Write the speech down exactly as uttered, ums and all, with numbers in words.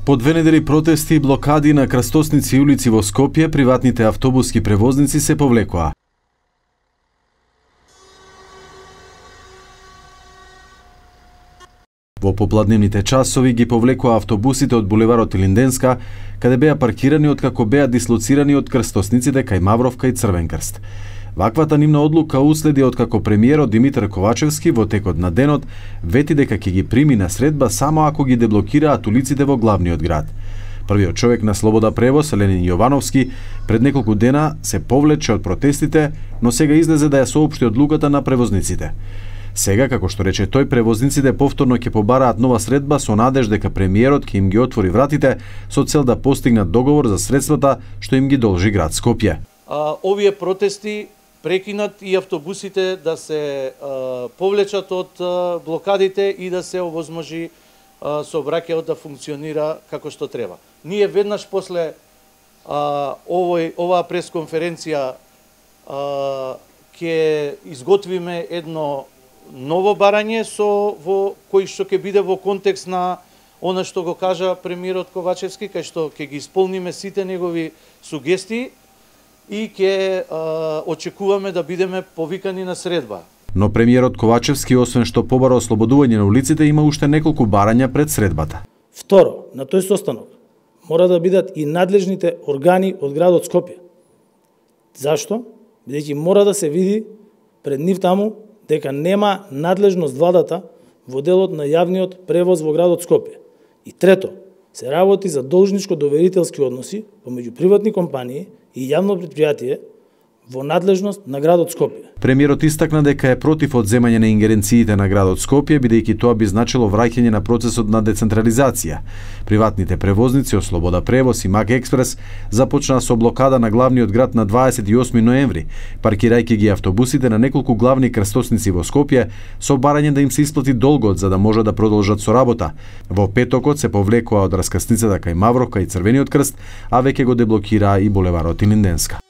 По две недели протести и блокади на крстосници и улици во Скопје, приватните автобуски превозници се повлекоа. Во попладневните часови ги повлекоа автобусите од булеварот Илинденска, каде беа паркирани откако беа дислоцирани од крстосниците кај Мавровка и Црвен крст. Ваквата нивна одлука уследи откако премиерот Димитар Ковачевски во текот на денот вети дека ќе ги прими на средба само ако ги деблокираат улиците во главниот град. Првиот човек на Слобода превоз, Ленин Јовановски, пред неколку дена се повлече од протестите, но сега излезе да ја соопшти одлуката на превозниците. Сега, како што рече тој, превозниците повторно ќе побараат нова средба со надеж дека премиерот ќе им ги отвори вратите со цел да постигнат договор за средствата што им ги должи град Скопје. А, овие протести прекинат и автобусите да се а, повлечат од а, блокадите и да се овозможи а, сообраќајот да функционира како што треба. Ние веднаш после а, овој оваа пресконференција а, ќе изготвиме едно ново барање со во кој што ќе биде во контекст на она што го кажа премиерот Ковачевски, кај што ќе ги исполниме сите негови сугестии и ќе очекуваме да бидеме повикани на средба. Но премиерот Ковачевски, освен што побара ослободување на улиците, има уште неколку барања пред средбата. Второ, на тој состанок мора да бидат и надлежните органи од градот Скопје. Зашто? Бидејќи мора да се види пред нив таму дека нема надлежност владата во делот на јавниот превоз во градот Скопје. И трето, се работи за должничко-доверителски односи помеѓу приватни компании и јавно предпријатие во надлежност на градот Скопје. Премиерот истакна дека е против одземање на ингеренциите на градот Скопје, бидејќи тоа би значило враќање на процесот на децентрализација. Приватните превозници од Слобода превоз и Мак експрес започнаа со блокада на главниот град на дваесет и осми ноември, паркирајќи ги автобусите на неколку главни крстосници во Скопје со барање да им се исплати долгот за да може да продолжат со работа. Во петокот се повлекоа од раскрсницата кај Мавровка и Црвениот крст, а веќе го деблокираа и булеварот Илинденска.